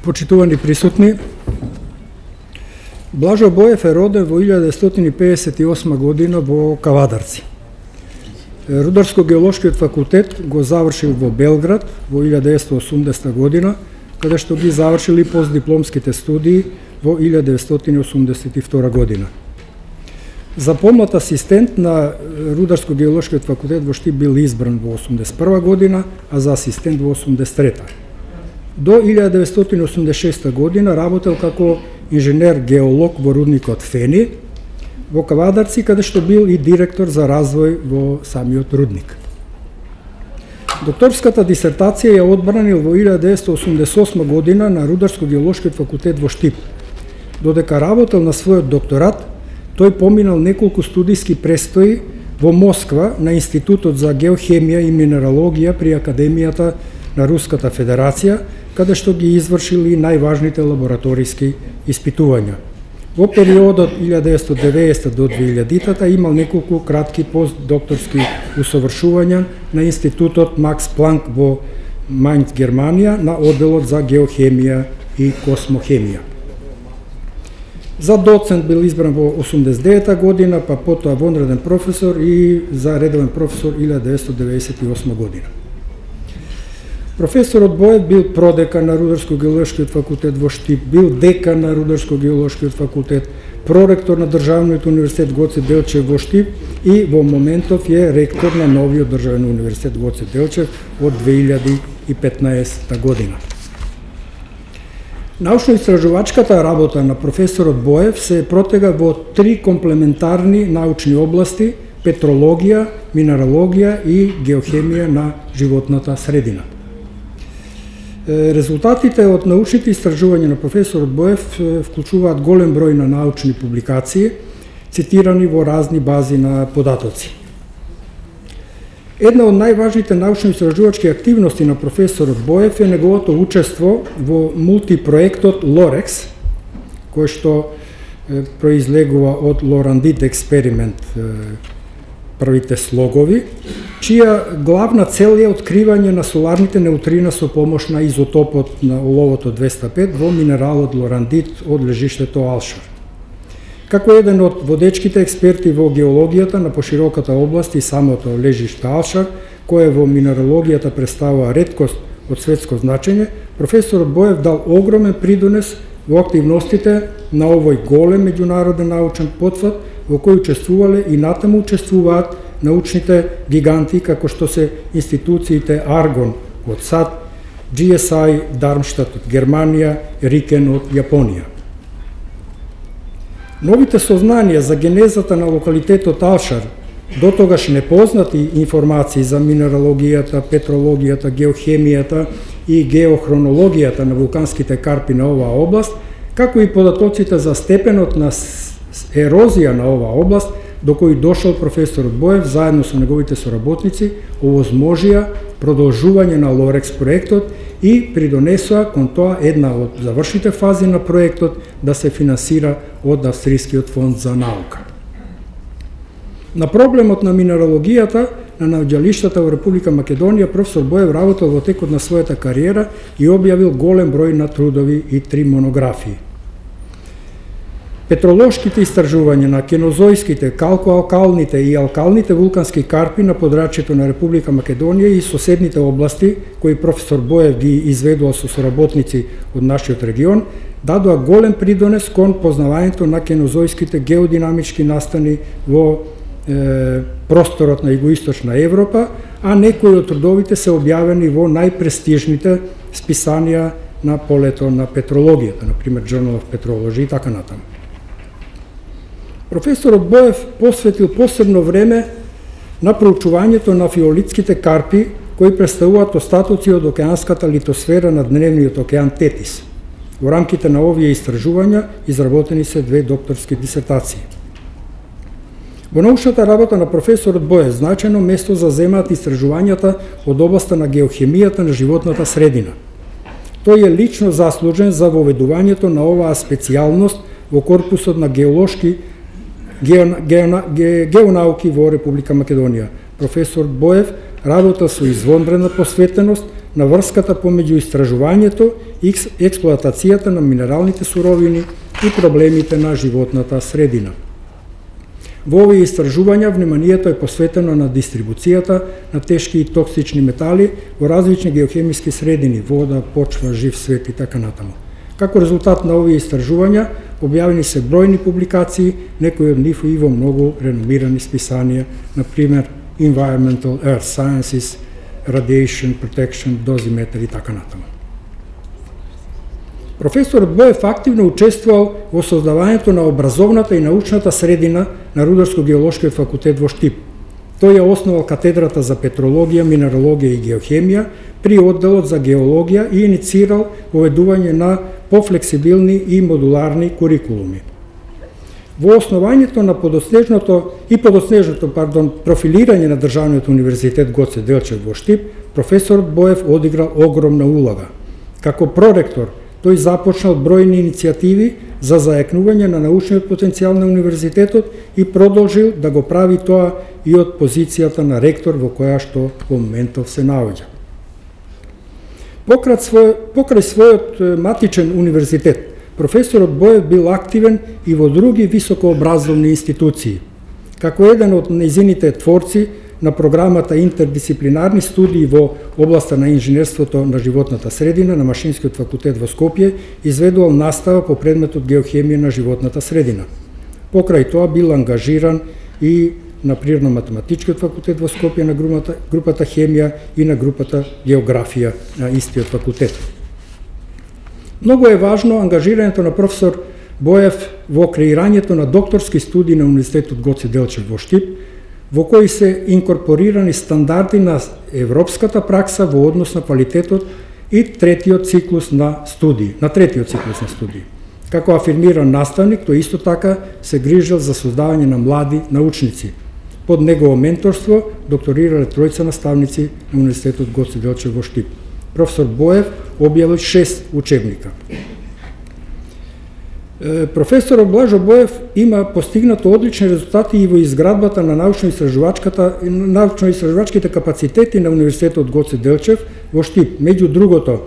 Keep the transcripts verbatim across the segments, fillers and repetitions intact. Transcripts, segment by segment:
Почитувани присутни, Блажо Боев е роден во илјада деветстотини педесет и осма година во Кавадарци. Рударско-геолошкиот факултет го завршил во Белград во илјада деветстотини осумдесета година, каде што ги завршили постдипломските студии во илјада деветстотини осумдесет и втора година. За помлад асистент на Рударско-геолошкиот факултет во Штип бил избран во осумдесет и прва година, а за асистент во осумдесет и трета. До илјада деветстотини осумдесет и шеста година работел како инженер-геолог во рудникот Фени во Кавадарци, каде што бил и директор за развој во самиот рудник. Докторската дисертација ја одбранил во илјада деветстотини осумдесет и осма година на Рударско-геолошкиот факултет во Штип. Додека работел на својот докторат, тој поминал неколку студиски престои во Москва на Институтот за геохемија и минералогија при Академијата на Руската Федерација, каде што ги извршили најважните лабораториски испитувања. Во периодот илјада деветстотини и деветдесета до две илјадитата имал неколку кратки постдокторски усовршувања на Институтот Макс Планк во Мајнц, Германија, на одделот за геохемија и космохемија. За доцент бил избран во осумдесет и девета година, па потоа вонреден професор и за редовен професор илјада деветстотини деветдесет и осма година. Професорот Боев бил продекан на Рударско-геолошкиот факултет во Штип, бил декан на Рударско-геолошкиот факултет, проректор на Државниот универзитет Гоце Делчев во Штип и во моментов е ректор на новиот Државен универзитет Гоце Делчев од две илјади и петнаесета година. Научно-истражувачката работа на професорот Боев се протега во три комплементарни научни области: петрологија, минералогија и геохемија на животната средина. Резултатите од научните истражувања на професорот Боев вклучуваат голем број на научни публикации, цитирани во разни бази на податоци. Една од најважните научно-истражувачки активности на професорот Боев е неговото учество во мултипроектот Лорекс, кој што произлегува од Лорандит експеримент, првите слогови, чија главна цел е откривање на соларните неутрина со помош на изотопот на оловото двеста и пет во минералот Лорандит од лежиштето Алшар. Како еден од водечките експерти во геологијата на пошироката област и самото лежиште Алшар, кое во минералогијата представува реткост од светско значење, професорот Боев дал огромен придонес во активностите на овој голем меѓународен научен потфат, во кој учествувале и натаму учествуваат научните гиганти, како што се институциите Аргон од САД, Джи Ес Ај Дармштат од Германија, Рикен од Јапонија. Новите сознанија за генезата на локалитетот Алшар, дотогаш непознати информации за минералогијата, петрологијата, геохемијата и геохронологијата на вулканските карпи на оваа област, како и податоците за степенот на ерозија на оваа област, до кој дошол професорот Боев заедно со неговите соработници, овозможија продолжување на Лорекс проектот и придонесоа кон тоа една од завршните фази на проектот да се финансира од Австрискиот фонд за наука. На проблемот на минералогијата на наоѓалиштата во Република Македонија професор Боев работел во текот на својата кариера и објавил голем број на трудови и три монографии. Петролошките истражувања на кенозојските, калкоалкалните и алкалните вулкански карпи на подрачјето на Република Македонија и соседните области, кои професор Боев ги изведувал со соработници од нашиот регион, дадоа голем придонес кон познавањето на кенозојските геодинамички настани во е, просторот на Југоисточна Европа, а некои од трудовите се објавени во најпрестижните списанија на полето на петрологијата, например Journal of Petrology и така натаму. Професорот Боев посветил посебно време на проучувањето на фиолитските карпи, кои представуваат остатоци од океанската литосфера на дневниот океан Тетис. Во рамките на овие истражувања изработени се две докторски дисертации. Во научната работа на професорот Боев значајно место заземаат истражувањата од областа на геохемијата на животната средина. Тој е лично заслужен за воведувањето на оваа специјалност во корпусот на геолошки геонауки во Република Македонија. Професор Боев работа со извонредна посветеност на врската помеѓу истражувањето и експлоатацијата на минералните суровини и проблемите на животната средина. Во овие истражувања вниманието е посветено на дистрибуцијата на тешки и токсични метали во различни геохемиски средини, вода, почва, жив свет и така натаму. Како резултат на овие истражувања, објавени се бројни публикации, некои од нив и во многу реномирани списанија, на пример Environmental Earth Sciences, Radiation Protection, Dosimeter и така натаму. Професорот Боев активно учествувал во создавањето на образовната и научната средина на Рударско-геолошкиот факултет во Штип. Тој ја основал катедрата за петрологија, минералогија и геохемија при одделот за геологија и иницирал воведување на пофлексибилни и модуларни курикулуми. Во основањето на подоснежното и подоснежното, пардон, профилирање на Државниот универзитет Гоце Делчев во Штип, професорот Боев одиграл огромна улога. Како проректор, тој започнал бројни иницијативи за зајакнување на научниот потенцијал на универзитетот и продолжил да го прави тоа и од позицијата на ректор во која што во моментов се наоѓа. Покрај, свој, покрај својот матичен универзитет, професорот Боев бил активен и во други високообразовни институции. Како еден од нејзините творци на програмата интердисциплинарни студии во областа на инженерството на животната средина на Машинскиот факултет во Скопје, изведувал настава по предметот геохемија на животната средина. Покрај тоа бил ангажиран и на Природно-математичкиот факултет во Скопје на групата, групата хемија и на групата географија на истиот факултет. Многу е важно ангажирањето на професор Боев во креирањето на докторски студии на Универзитетот Гоце Делчев во Штип, во кои се инкорпорирани стандарди на европската пракса во однос на квалитетот и третиот циклус на студии, на третиот циклус на студии. Како афирмиран наставник, тој исто така се грижил за создавање на млади научници. Под негово менторство докторирале тројца наставници на Универзитетот Гоце Делчев во Штип. Професор Боев објавил шест учебника. Професорот Блажо Боев има постигнато одлични резултати и во изградбата на научно-истражувачката научно-истражувачките капацитети на Универзитетот Гоце Делчев во Штип. Меѓу другото,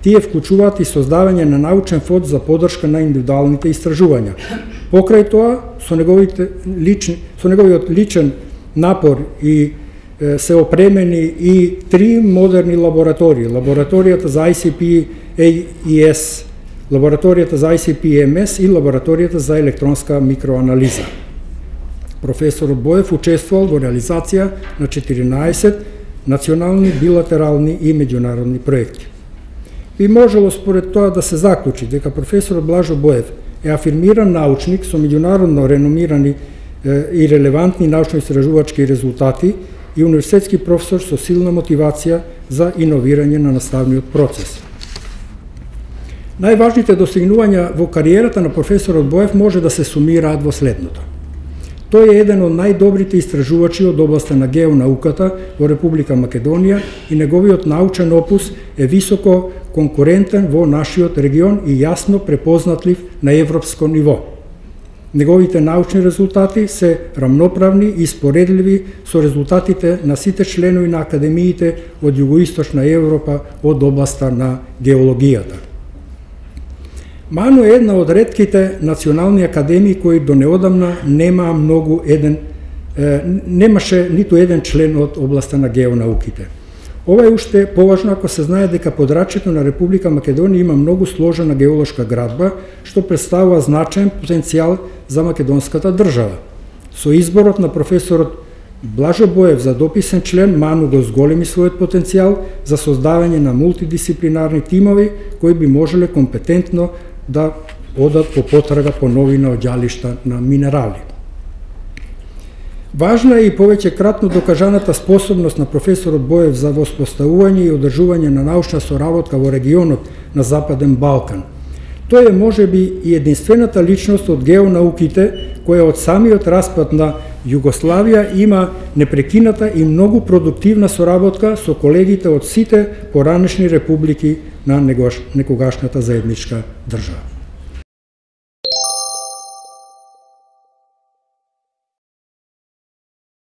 тие вклучуваат и создавање на научен фонд за поддршка на индивидуалните истражувања. Покрај тоа, со неговите лични, со неговиот личен напор и е, се опремени и три модерни лаборатории: лабораторијата за ай си пи ей и ес, лабораторијата за ай си пи ем ес и лабораторијата за електронска микроанализа. Професорот Боев учествувал во реализација на четиринаесет национални, билатерални и меѓународни проекти. Би можело според тоа да се заклучи дека професорот Блажо Боев е афирмиран научник со меѓународно реномирани е, и релевантни научно-истражувачки резултати и универзитетски професор со силна мотивација за иновирање на наставниот процес. Најважните достигнувања во кариерата на професорот Боев може да се сумираат во следното. Тој е еден од најдобрите истражувачи од областа на геонауката во Република Македонија и неговиот научен опус е високо конкурентен во нашиот регион и јасно препознатлив на европско ниво. Неговите научни резултати се рамноправни и споредливи со резултатите на сите членови на академиите од Југоисточна Европа од областа на геологијата. МАНУ е една од ретките национални академии кои до неодамна нема многу еден е, немаше ниту еден член од областа на геонауките. Ова е уште поважно ако се знае дека подрачјето на Република Македонија има многу сложена геолошка градба, што представува значаен потенцијал за македонската држава. Со изборот на професорот Блажо Боев за дописен член, МАНУ го зголеми својот потенцијал за создавање на мултидисциплинарни тимови кои би можеле компетентно да одат по потрага по нови наоѓалишта на минерали. Важна е и повеќе кратно докажаната способност на професорот Боев за воспоставување и одржување на научна соработка во регионот на Западен Балкан. Тој е можеби и единствената личност од геонауките која од самиот распад на Југославија има непрекината и многу продуктивна соработка со колегите од сите поранешни републики на некогашната заедничка држава.